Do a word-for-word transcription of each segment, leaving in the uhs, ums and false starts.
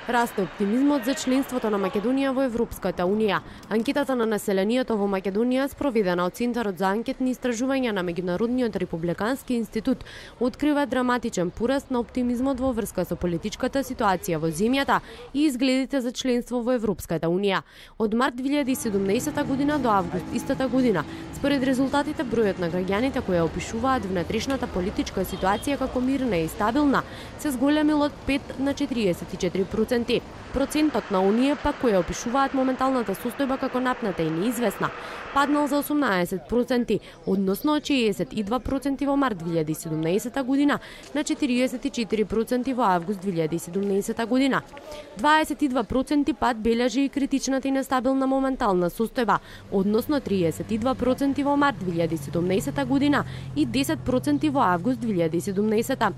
Расте оптимизмот за членството на Македонија во Европската унија. Анкетата на населението во Македонија, спроведена од Центарот за анкетни истражувања на Меѓународниот републикански институт, открива драматичен пораст на оптимизмот во врска со политичката ситуација во земјата и изгледите за членство во Европската унија. Од март две илјади и седумнаесета година до август истата година, според резултатите, бројот на граѓаните кои опишуваат внатрешната политичка ситуација како мирна и стабилна се зголемил од пет на четириесет и четири проценти. Процентот на оние пак кои опишуваат моменталната состојба како напната и неизвестна паднал за осумнаесет проценти, односно од шеесет и два проценти во март две илјади и седумнаесета година на четириесет и четири проценти во август две илјади и седумнаесета година. дваесет и два проценти пат бележи и критичната и нестабилна моментална состојба, односно триесет и два проценти во март две илјади и седумнаесета година и десет проценти во август две илјади и седумнаесета.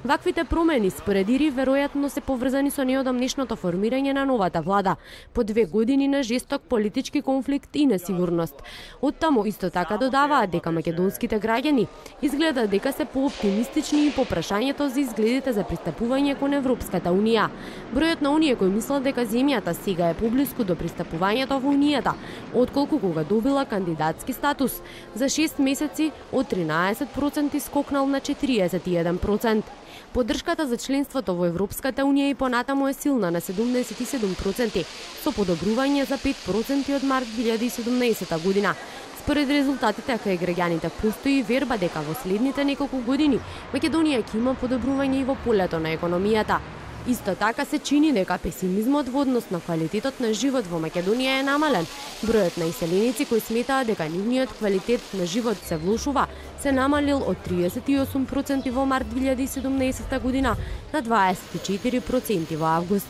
Ваквите промени според ИРИ веројатно се поврзани со неодамнешното формирање на новата влада, по две години на жесток политички конфликт и несигурност. Оттаму исто така додаваат дека македонските граѓани изгледа дека се пооптимистични и по прашањето за изгледите за пристапување кон Европската унија. Бројот на оние кои мислат дека земјата сега е поблиску до пристапувањето во унијата, отколку кога добила кандидатски статус, за шест месеци од тринаесет проценти скокнал на четириесет и еден проценти. Поддршката за членството во Европската унија и понатаму е силна на седумдесет и седум проценти, со подобрување за пет проценти од март две илјади и седумнаесета година. Според резултатите кај граѓаните постои верба дека во следните неколку години Македонија ќе има подобрување и во полето на економијата. Исто така се чини дека песимизмот во однос на квалитетот на живот во Македонија е намален. Бројот на иселеници кои сметаат дека нивниот квалитет на живот се влошува се намалил од триесет и осум проценти во март две илјади и седумнаесета година на дваесет и четири проценти во август.